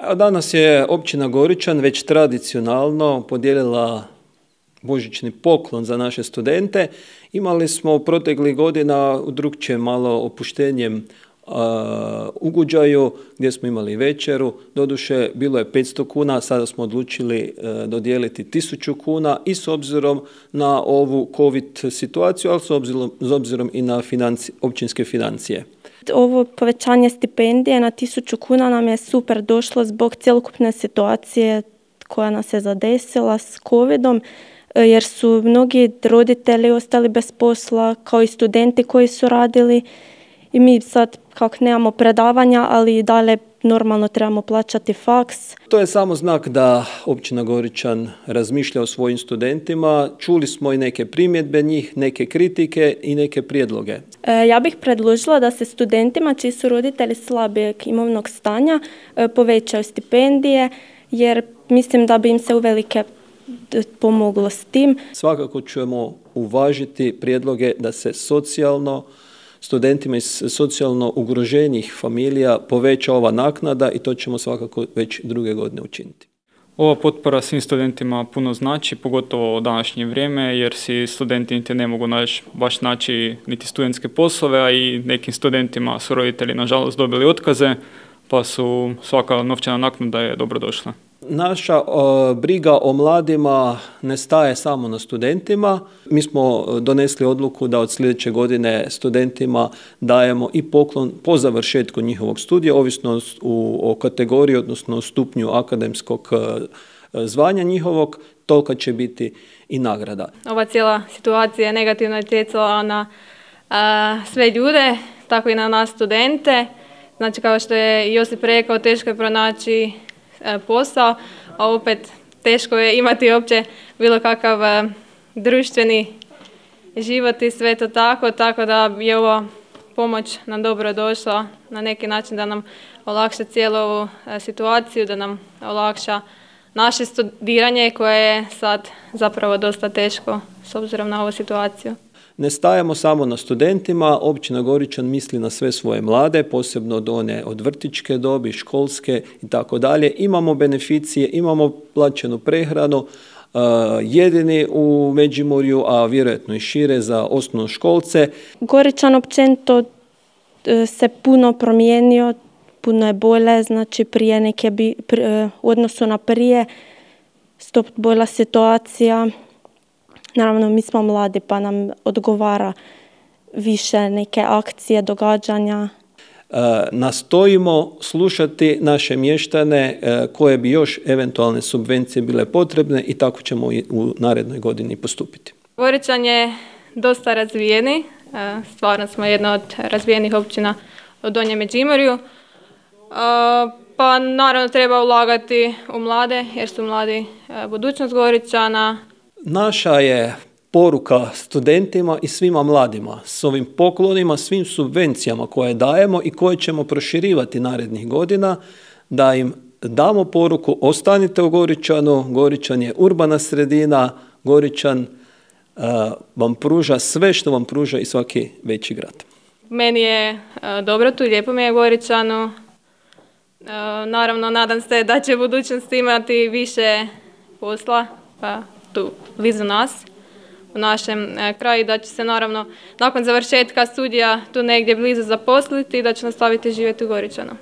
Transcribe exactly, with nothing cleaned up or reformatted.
A danas je općina Goričan već tradicionalno podijelila božićni poklon za naše studente. Imali smo proteklih godina u drugčijem malo opuštenjem uh, ugođaju gdje smo imali večeru. Doduše bilo je petsto kuna, sada smo odlučili uh, dodijeliti tisuću kuna i s obzirom na ovu COVID situaciju, ali s obzirom, s obzirom i na financi, općinske financije. Ovo povećanje stipendije na tisuću kuna nam je super došlo zbog cjelokupne situacije koja nas je zadesila s covidom, jer su mnogi roditelji ostali bez posla, kao i studenti koji su radili. I mi sad, kako nemamo predavanja, ali i dalje normalno trebamo plaćati faks. To je samo znak da općina Goričan razmišlja o svojim studentima. Čuli smo i neke primjedbe njih, neke kritike i neke prijedloge. E, ja bih predložila da se studentima čiji su roditelji slabijeg imovnog stanja e, povećaju stipendije, jer mislim da bi im se uvelike pomoglo s tim. Svakako ćemo uvažiti prijedloge da se socijalno studentima iz socijalno ugroženih familija poveća ova naknada i to ćemo svakako već druge godine učiniti. Ova potpora svim studentima puno znači, pogotovo u današnje vrijeme, jer si studenti niti ne mogu naći, baš naći niti studentske poslove, a i nekim studentima su roditelji nažalost dobili otkaze, pa su svaka novčana naknada je dobrodošla. Naša uh, briga o mladima ne staje samo na studentima. Mi smo donesli odluku da od sljedeće godine studentima dajemo i poklon po završetku njihovog studija, ovisno u, o kategoriji, odnosno stupnju akademskog uh, zvanja njihovog, tolika će biti i nagrada. Ova cijela situacija je negativno utjecala na uh, sve ljude, tako i na nas studente. Znači, kao što je Josip rekao, teško je pronaći posao, a opet teško je imati uopće bilo kakav uh, društveni život i sve to tako, tako da je ova pomoć nam dobro došla na neki način da nam olakša cijelu ovu uh, situaciju, da nam olakša naše studiranje koje je sad zapravo dosta teško s obzirom na ovu situaciju. Ne stajemo samo na studentima, općina Goričan misli na sve svoje mlade, posebno od one od vrtićke dobi, školske i tako dalje. Imamo beneficije, imamo plaćenu prehranu, uh, jedini u Međimurju, a vjerojatno i šire za osnovnoškolce. Goričan općenito se puno promijenio, puno je bolje, znači prije neke bi, pri, u odnosu na prije, stop bolja situacija. Naravno, mi smo mladi pa nam odgovara više neke akcije, događanja. E, nastojimo slušati naše mještane e, koje bi još eventualne subvencije bile potrebne i tako ćemo i u narednoj godini postupiti. Goričan je dosta razvijeni, e, stvarno smo jedna od razvijenih općina u Donjem Međimurju. E, pa naravno treba ulagati u mlade jer su mladi e, budućnost Goričana. Naša je poruka studentima i svima mladima s ovim poklonima, svim subvencijama koje dajemo i koje ćemo proširivati narednih godina, da im damo poruku ostanite u Goričanu, Goričan je urbana sredina, Goričan uh, vam pruža sve što vam pruža i svaki veći grad. Meni je uh, dobro tu, lijepo mi je Goričanu. Uh, naravno, nadam se da će u budućnosti imati više posla, pa tu blizu nas, u našem e, kraju, da će se naravno nakon završetka studija tu negdje blizu zaposliti i da će nastaviti živjeti u Goričanu.